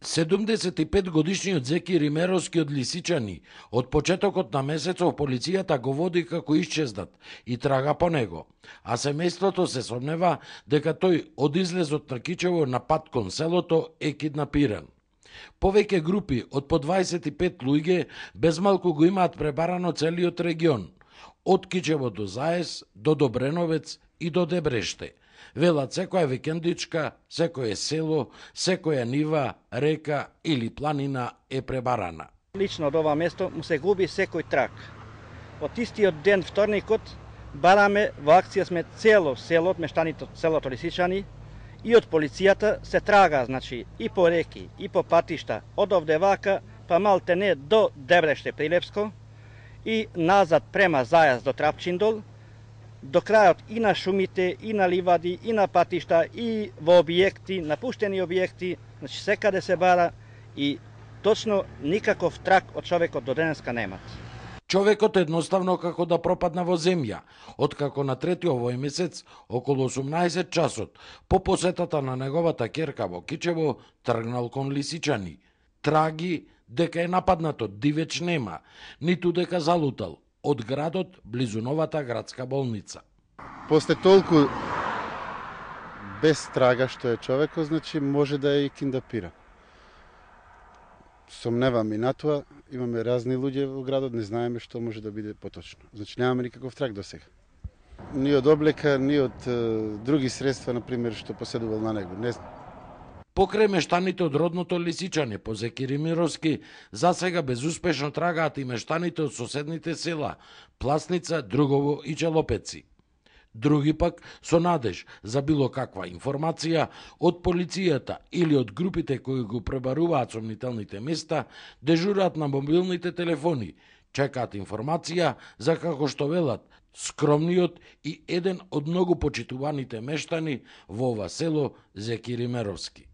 75-годишниот Зеки Римеровски од Лисичани од почетокот на месецов полицијата го води како исчезнат и трага по него, а семејството се сомнева дека тој од излезот на Кичево на пат кон селото е киднапиран. Повеќе групи од по 25 луѓе безмалку го имаат пребарано целиот регион, од Кичево до Заес, до Добреновец и до Дебреште. Велат секоја викендичка, секое село, секоја нива, река или планина е пребарана. Лично од ова место му се губи секој трак. Од истиот ден вторникот бараме во акција сме цело село, мештаните од селото Лисичани и од полицијата се трага, значи и по реки, и по патишта, од овде вака, па малте не до Дебреште Прилепско и назад према Зајас до Трапчиндол, до крајот и на шумите, и на ливади, и на патишта, и во објекти, напуштени објекти, значи секаде се бара и точно никаков трак од човекот до денеска немат. Човекот едноставно како да пропадна во земја, откако на 3 овој месец, околу 18 часот, по посетата на неговата ќерка во Кичево, тргнал кон Лисичани. Траги дека е нападнато, дивеч нема, ниту дека залутал од градот близу новата градска болница. После толку без трага што е човекот, значи може да е и киднапиран. Сомневам и на тоа, имаме разни луѓе во градот, не знаеме што може да биде поточно. Значи немаме никаков траг до сега. Ни од облека, ни од други средства, например, што поседувал на него, не знам. Покрај мештаните од родното Лисичани по Зеки Римеровски, засега безуспешно трагаат и мештаните од соседните села Пласница, Другово и Челопеци. Други пак со надеж за било каква информација од полицијата или од групите кои го пребаруваат сомнителните места, дежурат на мобилните телефони, чекаат информација за, како што велат, скромниот и еден од многу почитуваните мештани во ова село Зеки Римеровски.